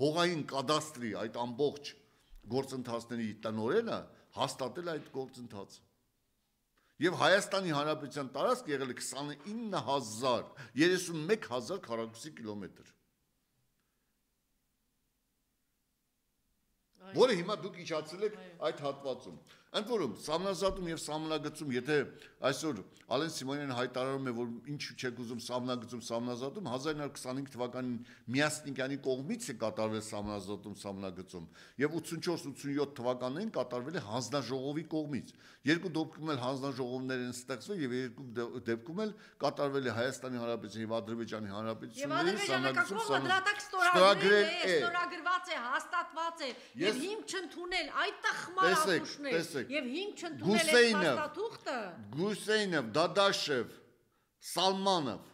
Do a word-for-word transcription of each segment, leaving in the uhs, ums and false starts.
հողային կադաստրի այդ ամբողջ գործընթացների տնօրենը հաստատել այդ գործընթացը։ Եվ Հայաստանի Հանրապետության տարածք եղել է քսանինը հազար երեսունմեկ հազար քառակուսի կիլոմետր։ Որը հիմա դուք իջացրել եք այդ հատվածում։ Ընդ որում, սահմանազատում եւ սահմանագծում, եթե այսօր Ալեն Սիմոնյանը հայտարարում է, որ ինչու չեք ուզում սահմանագծում, սահմանազատում, հազար ինը հարյուր քսանհինգ թվականին Միասնիկյանի կողմից է կատարվել սահմանազատում, սահմանագծում, եւ ութսունչորս ութսունյոթ թվականներին կատարվել է հանձնաժողովի կողմից։ Երկու դեպքում էլ հանձնաժողովներ են ստեղծվել եւ երկու դեպքում էլ կատարվել է Հայաստանի Հանրապետության եւ Ադրբեջանի Հանրապետությունների սահմանագծում ստորագրել է, ստորագրված է, հաստատված է եւ հիմք չընդունել այդ տխմարատուշներ եւ հիմք չընդունել է փաստաթուղթը Գուսեյնով, Դադաշև, Սալմանով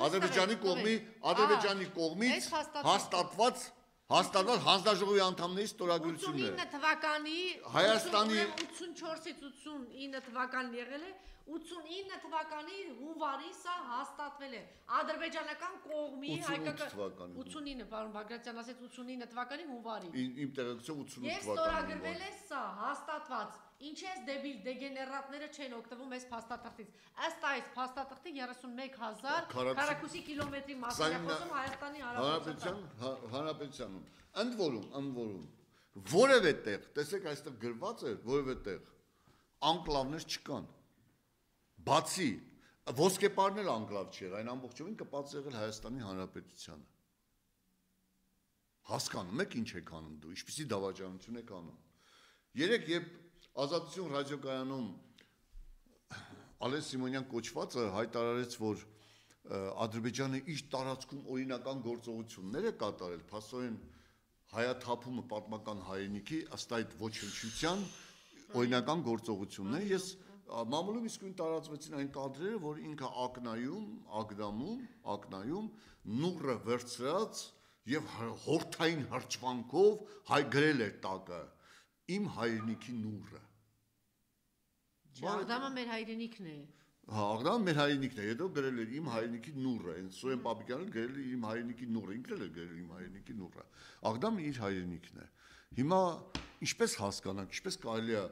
Ադրբեջանի կողմի Ադրբեջանի կողմից հաստատված հաստատված հանձնաժողովի անդամների ստորագրությունն է ութսունինը թվականի Հայաստանի ութսունչորսից ութսունինը թվականին եղել է ութսունինը թվականի հունվարի սա հաստատվել է ադրբեջանական կողմի հայկական ութսունինը պարոն Բագրատյան ասեց ութսունինը թվականի հունվարի իմ տեղեկությամբ ութսունութ եւ ստորագրվել է սա հաստատված ինչ էս դեբիլ դեգեներատները չեն օգտվում այս փաստաթղթից ըստ այս փաստաթղթի երեսունմեկ հազար քառակուսի կիլոմետրի մասին է խոսում Հայաստանի Հանրապետության Հանրապետությունում ընդ որում ընդ որում որևէ տեղ տեսեք այստեղ գրված է որևէ տեղ անկլավներ չկան Բացի ոսկեպարն էլ անկլավ չէր, այն ամբողջովին կպած եղել Հայաստանի Հանրապետությանը։ Հասկանում եք ինչ եք անում դու, ինչպիսի դավաճանություն եք անում։ Երեք երբ Ազատություն ռադիոկայանում Ալեն Սիմոնյան կոչվածը հայտարարեց, որ Ադրբեջանը իր տարածքում օրինական գործողություններ է կատարել, փաստորեն հայաթափումը պատմական հայրենիքի ըստ այդ ոչնչության օրինական գործողությունն է, ես Մամուլում իսկույն տարածվեցին այն կադրերը, որ ինքը ակնայում, ակդամում, ակնայում նուռը վերցրած եւ հորթային հրճվանքով հայ գրել էր տակը իմ հայրենիքի նուռը։ Աղդամը մեր հայրենիքն է։ Հա, աղդամը մեր հայրենիքն է, հետո գրել էր իմ հայրենիքի նուռը, այն Սուրեն Պապիկյանը գրել էր իմ հայրենիքի նուռը, ինքն էլ գրել իմ հայրենիքի նուռը։ Աղդամը իր հայրենիքն է։ Հիմա ինչպես հասկանանք, ինչպես կարելի է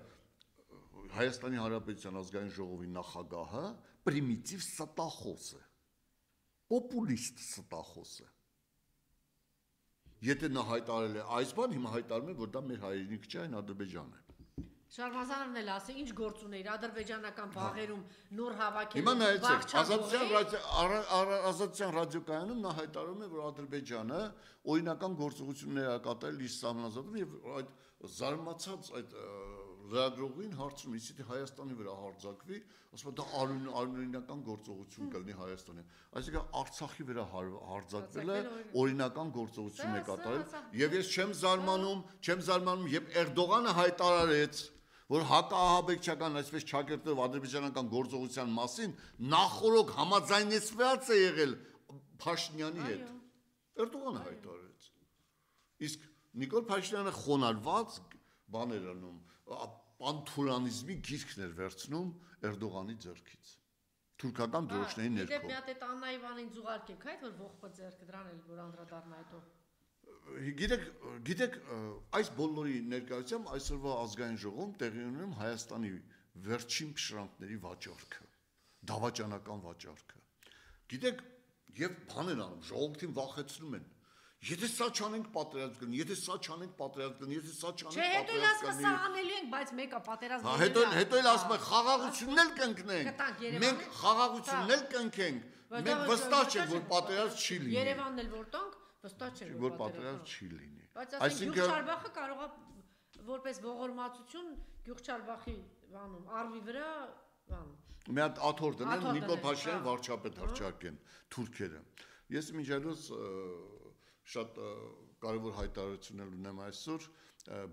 Հայաստանի Հանրապետության ազգային ժողովի նախագահը պրիմիտիվ ստախոս է, պոպուլիստ ստախոս է։ Եթե նա հայտարարել է այս բան, հիմա հայտարարում է, որ դա մեր հայրենիք չէ, այն Ադրբեջանն է։ Շարմազանովն էլ ասի, ինչ գործ ուներ ադրբեջանական բաղերում նոր հավաքել։ Հիմա նայեցեք, Ազատության ռադիոկայանում նա հայտարարում է, որ Ադրբեջանը օրինական գործողություններ է կատարել իր սահմանազատում եւ այդ զարմացած այդ լրագրողին հարցնում, իսկ Հայաստանի վրա հարձակվի, ասում է դա անօրինական գործողություն կլինի Հայաստանի։ Այսինքն Արցախի վրա հարձակվելը օրինական գործողություն է կատարել եւ ես չեմ զարմանում, չեմ զարմանում, երբ Էրդողանը հայտարարեց, որ հակաահաբեկչական այսպես ճակերտով ադրբեջանական գործողության մասին նախորոք համաձայնեցված է եղել Փաշինյանի հետ։ Էրդողանը հայտարարեց։ Իսկ Նիկոլ Փաշինյանը խոնարհված բաներ անում, պանթուրանիզմի գիրքն էր վերցնում Էրդողանի ձեռքից։ Թուրքական դրոշների ներքո։ Դե մի հատ այդ Աննա Իվանին զուգարկեք, այդ որ ողբը ձեռքը դրան էլ որ անդրադառնա հետո։ Գիտեք, գիտեք, այս բոլորի ներկայությամբ այսօրվա ազգային ժողովում տեղի ունենում Հայաստանի վերջին փշրանքների վաճառքը, դավաճանական վաճառքը։ Գիտեք, եւ բան են անում, ժողովրդին վախեցնում են։ Եթե սա չանենք պատերազմ կլինի, եթե սա չանենք պատերազմ կլինի, եթե սա չանենք պատերազմ կլինի։ Չէ, հետո էլ ասում սա անելու ենք, բայց մեկը պատերազմ կլինի։ Հետո հետո էլ ասում են խաղաղությունն էլ կընկնենք։ Մենք խաղաղությունն էլ կընկենք։ Մենք վստահ չենք, որ պատերազմ չի լինի։ Երևանն էլ որ տանք, վստահ չենք, որ պատերազմ չի լինի։ Այսինքն Գյուղչարբախը կարող է որպես ողորմածություն Գյուղչարբախի բանում արվի վրա բան։ Մի հատ աթոռ դնեն Նիկոլ Փաշինյանի վարչապետ հրճակեն թուրքերը։ Ես մինչդեռ շատ կարևոր հայտարարություններ ունեմ այսօր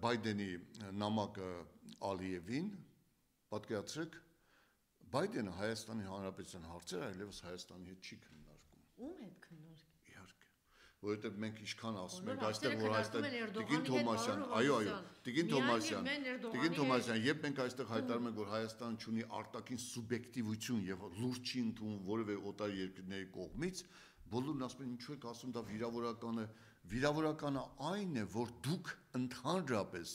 Բայդենի նամակը Ալիևին, պատկերացրեք, Բայդենը Հայաստանի Հանրապետության հարցերը այլևս Հայաստանի հետ չի քննարկում։ Ում հետ քննարկի։ Իհարկե, որովհետև մենք ինչքան ասում ենք այստեղ, որ այստեղ Տիկին Թոմասյան, այո, այո, Տիկին Թոմասյան, Տիկին Թոմասյան, երբ մենք այստեղ հայտարարում ենք, որ Հայաստանը ունի արտաքին սուբյեկտիվություն եւ լուրջ չի ընդունում որևէ օտար երկրների կողմից, բոլորն ասում են ինչու եք ասում դա վիրավորական է, Վիրավորականը այն է, որ դուք ընդհանրապես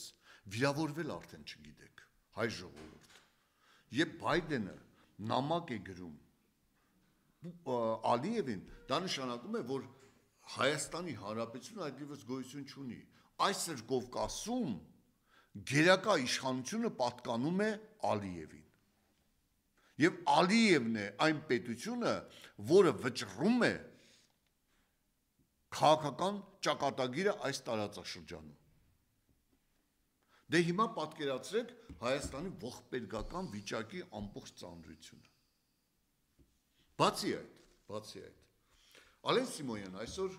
վիրավորվել արդեն չգիտեք, հայ ժողովուրդ։ Երբ Բայդենը նամակ է գրում Ալիևին, դա նշանակում է, որ Հայաստանի Հանրապետությունը այլևս գոյություն չունի։ Այսօր Կովկասում գերակա իշխանությունը պատկանում է Ալիևին։ Եվ Ալիևն է այն պետությունը, որը վճռում է քաղաքական ճակատագիրը այս տարածաշրջանում։ Դե հիմա պատկերացրեք Հայաստանի ողբերգական վիճակի ամբողջ ծանրությունը։ Բացի այդ, բացի այդ, Ալեն Սիմոնյան այսօր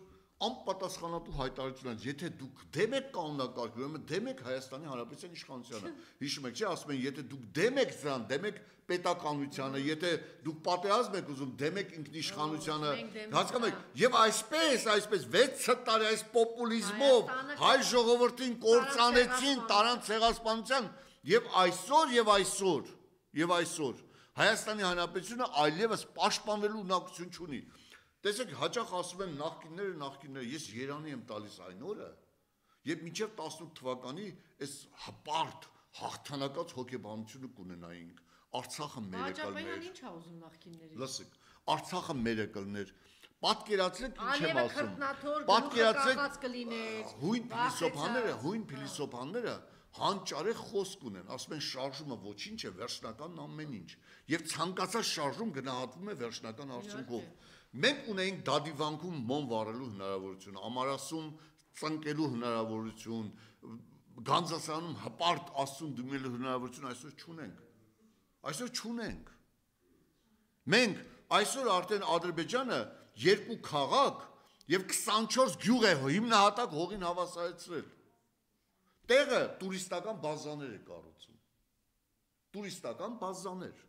անպատասխանատու հայտարարություն, եթե դուք դեմ եք կանոնակարգ, ուրեմն դեմ եք Հայաստանի Հանրապետության իշխանությանը։ Հիշում եք, չէ՞, ասում են, եթե դուք դեմ եք դրան, դեմ եք պետականությանը, եթե դուք պատերազմ եք ուզում, դեմ եք ինքնիշխանությանը, հասկանում եք, եւ այսպես, այսպես վեց տարի այս պոպուլիզմով հայ ժողովրդին կործանեցին, տարան ցեղասպանության, եւ այսօր եւ այսօր, եւ այսօր Հայաստանի Հանրապետությունը այլևս պաշտպանելու ունակություն չունի։ Տեսեք, հաճախ ասում են նախկինները, նախկինները, ես երանի եմ տալիս այն օրը, եւ մինչեւ տասնութ թվականի այս հպարտ հաղթանակած հոգեբանությունը կունենայինք։ Արցախը մեր եկալներ։ Ինչ ա ուզում նախկիններից։ Լսեք, Արցախը մեր եկալներ։ Պատկերացրեք ինչ եմ Ալիևը ասում։ քրտնաթոր, Պատկերացրեք կլիներ։ հույն փիլիսոփաները, հույն փիլիսոփաները հանճարեղ խոսք ունեն, ասում են շարժումը ոչինչ է, վերջնական ամեն ինչ։ Եվ ցանկացած շարժում գնահատվում է վերջնական արդյունքով։ Մենք ունեինք դադիվանքում մոմ վառելու հնարավորություն, ամարասում ծնկելու հնարավորություն, Գանձասարանում հպարտ աստուն դիմելու հնարավորություն այսօր չունենք։ Այսօր չունենք։ Մենք այսօր արդեն Ադրբեջանը երկու քաղաք եւ քսանչորս գյուղ է հիմնահատակ հողին հավասարեցրել։ Տեղը տուրիստական բազաներ է կառուցում։ Տուրիստական բազաներ։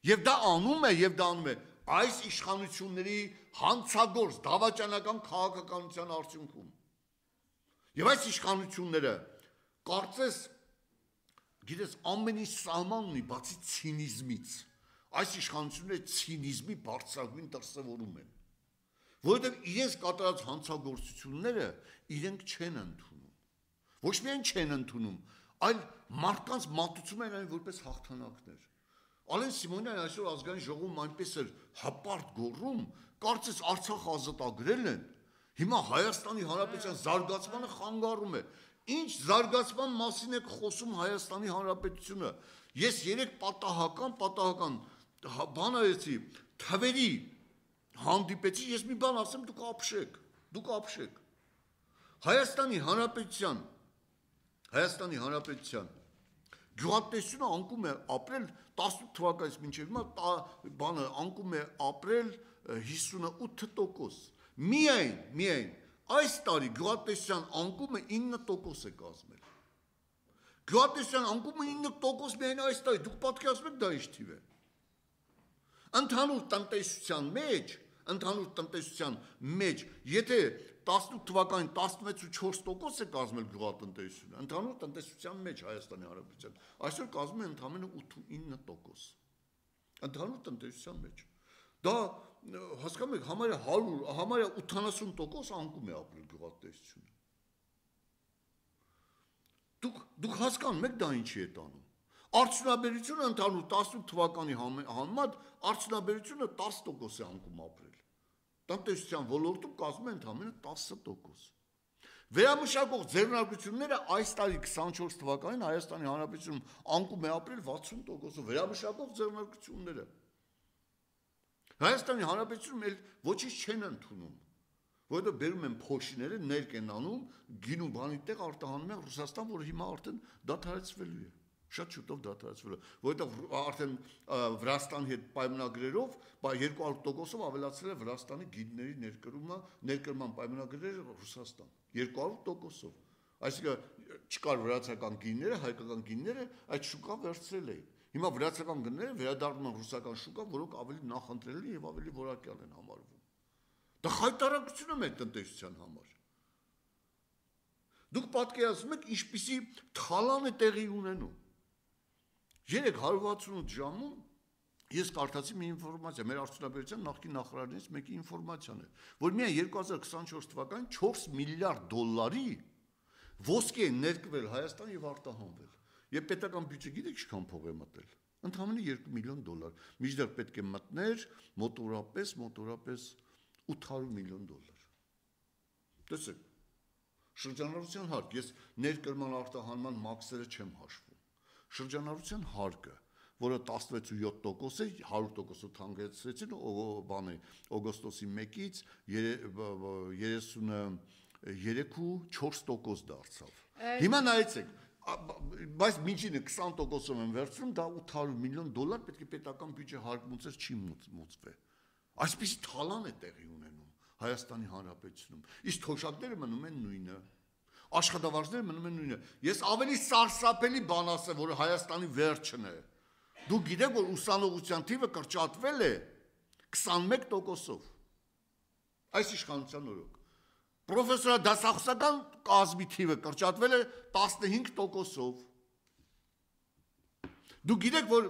Եվ դա անում է, եւ դա անում է այս իշխանությունների հանցագործ դավաճանական քաղաքականության արդյունքում։ Եվ այս իշխանությունները կարծես գիտես ամեն ինչ սահման ունի բացի ցինիզմից։ Այս իշխանությունները ցինիզմի բարձրագույն դրսևորում են, որովհետև իրենց կատարած հանցագործությունները իրենք չեն ընդունում։ Ոչ միայն չեն ընդունում, այլ մարդկանց մատուցում են այն որպես հաղթանակներ։ Ալեն Սիմոնյան այսօր ազգային ժողովում այնպես էր հպարտ գոռում, կարծես Արցախը ազատագրել են։ Հիմա Հայաստանի Հանրապետության զարգացմանը խանգարում է։ Ինչ զարգացման մասին է խոսում Հայաստանի Հանրապետությունը։ Ես երեք պատահական, պատահական բան արեցի, թվերի հանդիպեցի, ես մի բան ասեմ, դուք ապշեք, դուք ապշեք։ Հայաստանի Հանրապետության, Հայաստանի Հանրապետության գյուղատնտեսությունը անկում է ապրել տասնութ թվականից մինչև հիմա բանը անկում է ապրել հիսունութ տոկոս։ Միայն, միայն այս տարի գյուղատնտեսության անկումը ինը տոկոս է կազմել։ Գյուղատնտեսության անկումը ինը տոկոս միայն այս տարի, դուք պատկերացնում եք դա ինչ թիվ է։ Ընդհանուր տնտեսության մեջ, ընդհանուր տնտեսության մեջ, եթե տասնութ թվականին տասնվեց ու չորս տոկոս է կազմել գյուղատնտեսությունը, ընդհանուր տնտեսության մեջ Հայաստանի Հանրապետության, այսօր կազմում է ընդամենը ութինը տոկոս։ Ընդհանուր տնտեսության մեջ։ Դա հասկանում եք, համարյա հարյուր, համարյա ութանասուն տոկոս անկում է ապրել գյուղատնտեսությունը։ Դուք դուք հասկանում եք դա ինչի է տանում։ Արդյունաբերությունը ընդհանուր տասնութ թվականի համեմատ արդյունաբերությունը տասը տոկոս է անկում ապրել։ Տնտեսության ոլորտում կազմում են ընդամենը տասը տոկոս։ Վերամշակող ձեռնարկությունները այս տարի քսանչորս թվականին Հայաստանի Հանրապետությունում անկում է ապրել վաթսուն տոկոսով վերամշակող ձեռնարկությունները։ Հայաստանի Հանրապետությունում էլ ոչինչ չեն ընդունում, որովհետև բերում են փոշիները, ներք են անում, գինու բանի տեղ արտահանում են Ռուսաստան, որը հիմա արդեն դադարեցվելու է։ Շատ շուտով դադարեցվելու, որովհետև արդեն Վրաստանի հետ պայմանագրերով երկու հարյուր տոկոսով ավելացել է Վրաստանի գինների ներկրումը, ներկրման պայմանագրերը Ռուսաստան, երկու հարյուր տոկոսով։ Այսինքն չկար վրացական գինները, հայկական գինները, այդ շուկան վերցրել էին։ Հիմա վրացական գինները վերադառնում են ռուսական շուկա, որոնք ավելի նախընտրելի եւ ավելի որակյալ են համարվում։ Դա խայտարակություն է մեր տնտեսության համար։ Դուք պատկերացնում եք ինչպիսի թալան է տեղի ունենում։ Երեք հարյուր վաթսունութ ժամում Ես կարդացի մի ինֆորմացիա, մեր արդյունաբերության նախկին նախարարներից մեկի ինֆորմացիան է, որ միայն երկու հազար քսանչորս թվականին չորս միլիարդ դոլարի ոսկի է ներկվել Հայաստան եւ արտահանվել։ Եվ պետական բյուջե գիտեք ինչքան փող է մտել։ Ընդհանրապես երկու միլիոն դոլար։ Միջդեռ պետք է մտներ մոտորապես, մոտորապես ութ հարյուր միլիոն դոլար։ Տեսեք, շրջանառության հարկ, ես ներկրման արտահանման մաքսերը չեմ հաշվում։ Շրջանառության հարկը, որը տասնվեց ու յոթ տոկոս է, հարյուր տոկոսով թանկեցրեցին բանը օգոստոսի մեկից երեսուններեք ու չորս տոկոս դարձավ։ Հիմա նայեցեք, բայց միջինը քսան տոկոսով են վերցնում, դա ութ հարյուր միլիոն դոլար պետք է պետական բյուջե հարկմուծեր չի մուծվել։ Այսպիսի թալան է տեղի ունենում Հայաստանի Հանրապետությունում։ Իսկ թոշակները մնում են նույնը։ Աշխատավարձները մնում են նույնը։ Ես ավելի սարսափելի բան ասեմ, որ Հայաստանի վերջն է։ Դու գիտեք, որ ուսանողության թիվը կրճատվել է քսանմեկ տոկոսով։ Այս իշխանության օրոք։ Պրոֆեսորադասախոսական կազմի թիվը կրճատվել է տասնհինգ տոկոսով։ Դու գիտեք, որ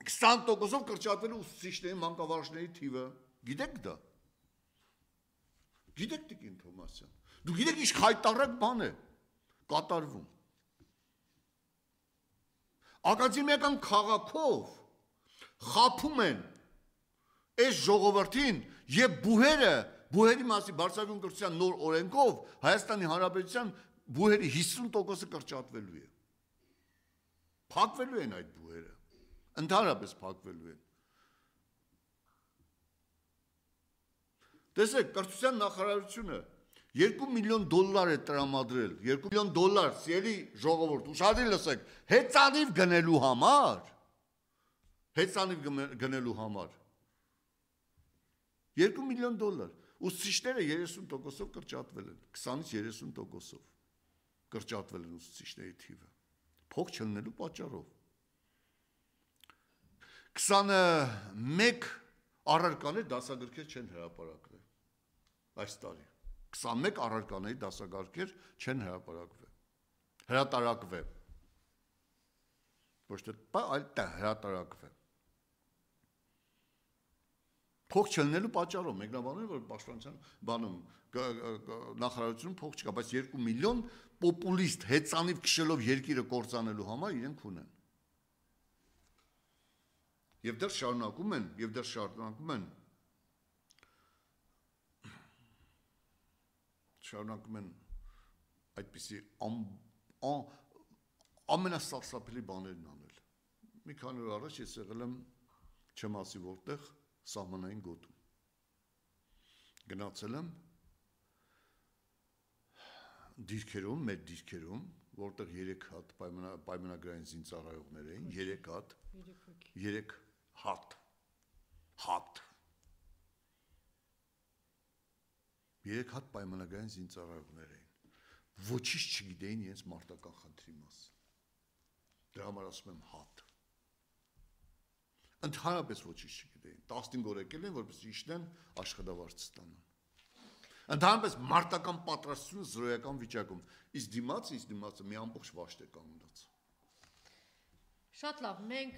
քսան տոկոսով կրճատվել է ուսուցիչների մանկավարժների թիվը։ Գիտեք դա։ Գիտեք Տիկին Թոմասյան։ Դու գիտեք ինչ խայտառակ բան է կատարվում։ Ակադեմիական քաղաքով խափում են այս ժողովրդին եւ բուհերը, բուհերի մասի բարձրագույն կրթության նոր օրենքով Հայաստանի Հանրապետության բուհերի հիսուն տոկոսը կրճատվելու է։ Փակվելու են այդ բուհերը։ Ընդհանրապես փակվելու են։ Տեսեք, կրթության նախարարությունը երկու միլիոն դոլար է տրամադրել, երկու միլիոն դոլար, սիրելի ժողովուրդ, ուշադիր լսեք, հեծանիվ գնելու համար, հեծանիվ գնելու համար, երկու միլիոն դոլար, ուսուցիչները երեսուն տոկոսով կրճատվել են, քսանից երեսուն տոկոսով կրճատվել են ուսուցիչների թիվը, փող չլնելու պատճառով, քսանմեկ առարկաներ դասագրքեր չեն հրապարակվել, այս տարի, քսանմեկ առարկաների դասակարգեր չեն հրապարակվել, հրատարակվել, ոչ թե այլ հրատարակվել, փող չլնելու պատճառով, մեկնաբանում են, որ պաշտպանության բանում նախարարությունում փող չկա, բայց երկու միլիոն պոպուլիստ հեծանիվ քշելով երկիրը կործանելու համար իրենք ունեն։ Եվ դեռ շարունակում են, եւ դեռ շարունակում են շարունակում են այդպիսի ամենասարսափելի բաներն անել։ Մի քանի օր առաջ ես եղել եմ չեմ ասի որտեղ սահմանային գոտում։ Գնացել եմ դիրքերում, մեր դիրքերում, որտեղ երեք հատ պայմանագրային զինծառայողներ էին, երեք հատ, երեք հատ, հատ, երեք հատ պայմանագրային զինծառայողներ էին, ոչինչ չգիտեին իրենց մարտական խնդրի մասին, դրա համար ասում եմ հատ, ընդհանրապես ոչինչ չգիտեին, տասնհինգ օր եկել են, որպես իջնեն աշխատավարձ ստանան, ընդհանրապես մարտական պատրաստությունը զրոյական վիճակում, իսկ դիմացը, իսկ դիմացը մի ամբողջ վաշտ է կանգնած։ Շատ լավ, մենք,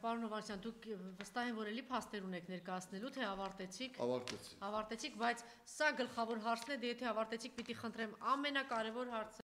պարոն Հովհաննիսյան, դուք վստահ եմ, որ էլի փաստեր ունեք ներկայացնելու, թե ավարտեցիք։ Ավարտեցի։ Ավարտեցիք, բայց սա գլխավոր հարցն է, դե եթե ավարտեցիք, պիտի խնդրեմ ամենակարևոր հարցը